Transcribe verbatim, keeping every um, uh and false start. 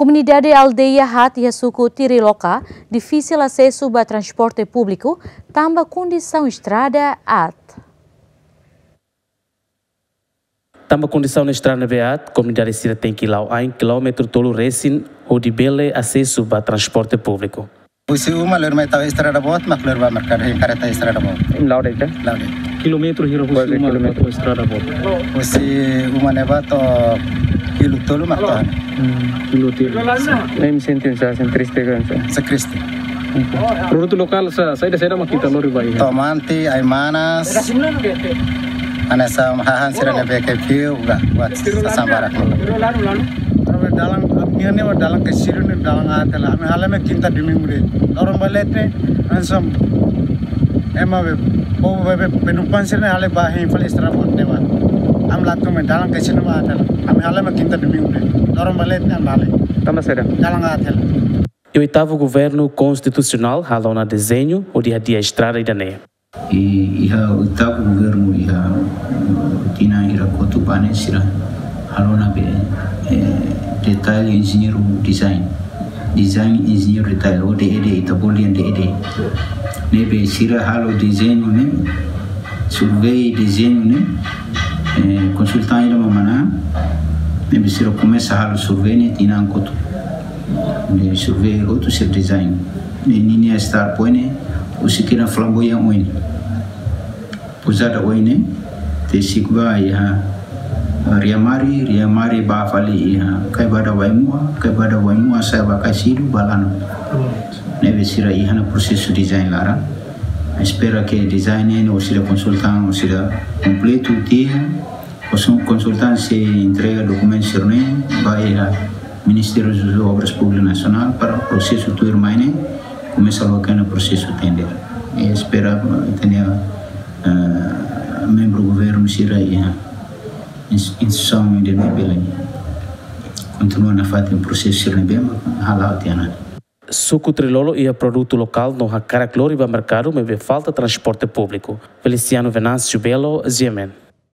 Komunidade aldeia haat iha suku Tiriloka difisil asesu ba transporte públiku tanba kondisaun estrada aat. Tanba kondisaun estrada ne'ebé aat, komunidade sira tenke la'o ain kilómetru tolu resin hodi bele asesu ba transporte públiku. Husi uma lori mai tau estrada boot, mak lori ba merkadu, hein, kareta estrada boot. Em la'o de'it ka? La'o de'it. Kilómetru hira husi uma to'o estrada boot? Husi uma ne'ebá to'o kilu tolu mak to'o. Hmm, kilu tolu. Em sente oinsá, sente triste ka oinsá? Sente triste. Produtu lokál sa, saida-saida mak ita lori ba iha? Tomate, ai-manas. Hanesan hahán sira ne'ebé ke fiu, ba, buat sasán barak. Ami dalan, ami ne'e dalan ke sira ne'e dalan aat hela. Ami halo mai kinta domingu de'it. Loron ba leten, hanesan ema be, povu be, be, penumpang sira ne'e halo ba hein fali estrada boot ne'ebá. Ami la tun mai dalan ke sira ne'e aat hela. Ami halo mai kinta domingu de'it. Loron ba leten ami halo. Tanba saida? Dalan aat hela. Iha oitavu governu konstitusionál halo ona dezeñu hodi hadi'a estrada ida-ne'e. I, iha oitavu governu iha, eh, tinan hira kotuk ba ne'e sira halo ona be, eh, detail enjeñeiru design. Design enjeñeiru detail, O D E D, ita bolu dehan D E D. Ne'ebé sira halo dezeñu ne'e, survey dezeñu ne'e, eh, konsultan ida mak manán, ne'ebé sira komesa halo survey ne'e tinan kotuk. Ne'e survey hotu sira design. Ne'e ninia start point ne'e, husik iha Flamboyant oin. Pousada oin ne'e, te siku ba iha, eh, Riamari, Riamari ba fali iha Kaibada Waimua, Kaibada Waimua sa'e ba Kasidu, ba Lanu. Ne'ebé sira iha ona prosesu design laran. Espera ke design ne'e, ou sira konsultan, ou sira kompletu tiha, konsul-, konsultan sei entrega dokumentu sira-ne'e ba iha Ministériu das Obras Públikas Nasionál para prosesu tuirmai ne'e komesa loke ona prosesu tender. I espera, eh, tende, eh, membru governu sira iha ins-, instituisaun ida-ne'e bele kontinua nafatin prosesu sira ne'ebé mak hala'o tiha ona. Suku Trilolo iha produtu lokál no hakarak lori ba merkadu maibé falta transporte públiku. Feliciano Venâncio Belo, G M N.